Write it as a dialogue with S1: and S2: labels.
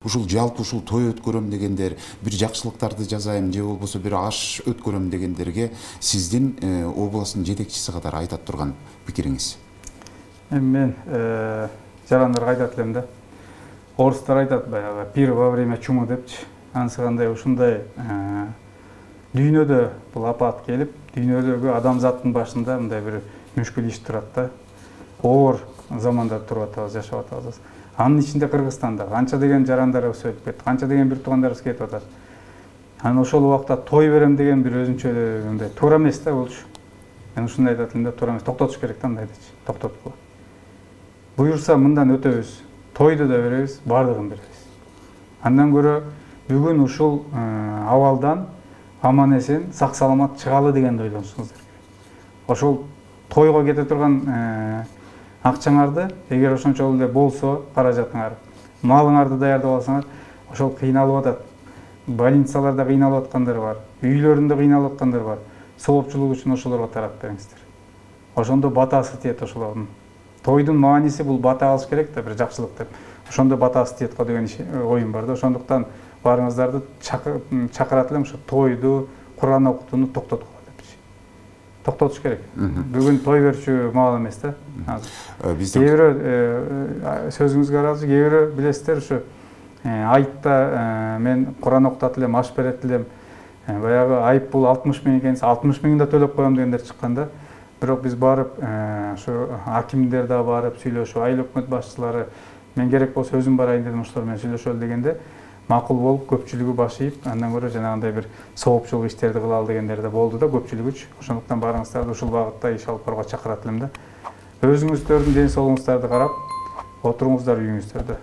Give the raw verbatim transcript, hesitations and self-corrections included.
S1: Ушул жалпы ушул той өткөрөм дегендер, бир жакшылыктарды жасайм же болбосо бир аш өткөрөм дегендерге сиздин областтын жетекчиси катары айтат турган пикириңиз?
S2: Эми мен жарандарга айтат элем да. Орустар айтат баягы пир во время чумы депчи. Анысы кандай ушундай дүйнөдө бул апат келип, дүйнөдөгү адамзаттын башында мындай бир мүшкүл иш турат да. Оор заманда туруп атабыз, жашап атабыз. Анын ичинде Кыргызстанда канча деген жарандарыбыз өлүп кетти, канча деген бир туугандарыбыз кетип атат. Анан ошол убакта той берем деген бир өзүнчө мындай туура эмес да болчу. Мен ушундай айтат элем да, туура эмес, токтотуш керек да мындайдычы, токтоткула. Буюрса мындан өтөбүз, тойду да беребиз, бардыгын беребиз. Андан көрө бүгүн ушул абалдан аман эсен, сак саламат чыгалы дегенди ойлонушуңуздар. Ошол тойго кете турган акчаңарды, эгер ошончол эле болсо, каражатыңар, малыңарды даярдап алсаңар, ошол кыйналып атат. Больницаларда кыйналып аткандар бар, үйлөрүндө кыйналып аткандар бар. Соопчулук үчүн ошолорго тарап бериңиздер. Ошондо батасы тиет ошолордун. Тойдун мааниси бул бата алыш керек да, бир жакшылык деп. Ошондо батасы тиет го деген оюм бар да. Ошондуктан барыңыздарды чакырат элем ошо тойду, Куран окутууну токтоткула депчи. Токтотуш керек. Бүгүн той берчү маал эмес да. Кээ бирөө сөзүңүзгө ыраазы, кээ бирөө билесиздер ушу айтта мен Куран окутат элем, аш берет элем. Баягы айып бул алтымыш миң экенси, алтымыш миңин да төлөп коем дегендер чыкканда. Бирок биз барып, ушу акимдер да барып сүйлөшүп, айыл өкмөт башчылары мен керек болсо өзүм барайын дедим, ошолор менен сүйлөшөлү дегенде макул болуп, көпчүлүгү баш ийип, андан көрө жанагындай бир соопчулук иштерди кылалы дегендер да болду да көпчүлүгүчү. Ошондуктан барыңыздарды ушул багытта иш алып барууга чакырат элем да. Өзүңүздөрдүн ден соолугуңуздарды карап, отуруңуздар үйүңүздөрдө.